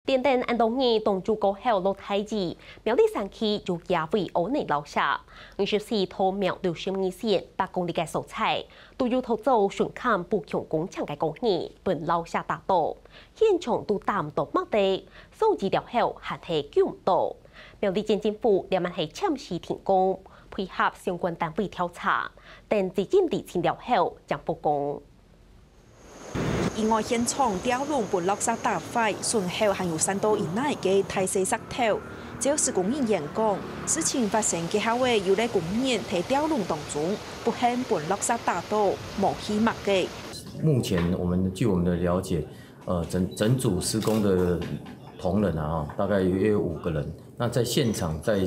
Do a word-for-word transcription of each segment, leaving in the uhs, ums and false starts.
連等恁多日當晝過後落大雨，苗栗山區有幾位烏泥摎石。二十四到苗栗十二線八公里个所在，都有土造巡崁補強工程个工人分摎石打倒，現場都打毋到麼个，掃除了後還係救毋到。苗栗縣政府這滿係暫時停工，配合相關單位調查，等地政地清了後正復工。 意外現場吊籠分落石打壞，損耗還有三到以內个大細石頭。照施工人員講，事情發生該下仔有个工人在吊籠當中，不幸分落石打倒，無去麼个。目前我們，據我們的了解，呃，整，整組施工的同仁啊，大概約五個人。那在現場在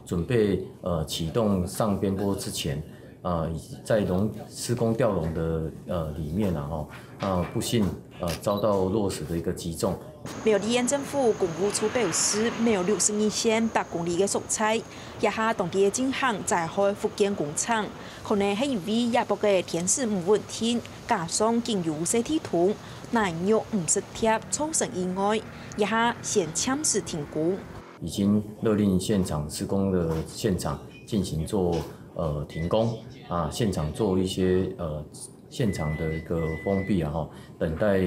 準備，呃，啟動上邊坡之前， 呃，在籠，施工吊籠的，呃，裡面啊，吼，啊，不幸，呃，遭到落石的一個擊中。苗栗縣政府工務處表示，苗栗十二線八公里个所在，這下當地个進行災害復建工程，可能係因為這駁个天時毋穩定，加上緊有設地動，泥肉毋識貼，造成意外，這下先暫時停工。 已經勒令現場施工的現場進行做，呃，停工啊，現場做一些，呃，現場的一個封閉啊，吼，等待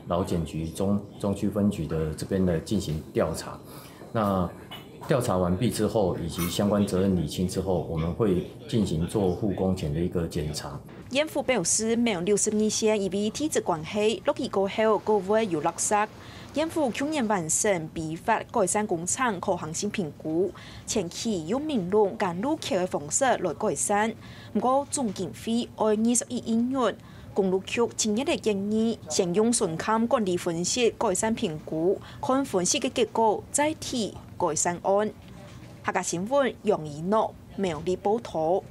勞檢局中，中區分局的這邊來進行調查。那調查完畢之後，以及相關責任釐清之後，我們會進行做復工前的一個檢查。縣府表示，苗栗十二線因為地質關係，落雨過後，過會有落石。 縣府舊年完成批發改善工程可行性評估，前期用明籠跟路橋个方式來改善，毋過總經費愛二十一億元。公路局今日个建議，先用巡崁管理分析改善評估，看分析个結果再提改善案。客家新聞楊怡諾苗栗報導。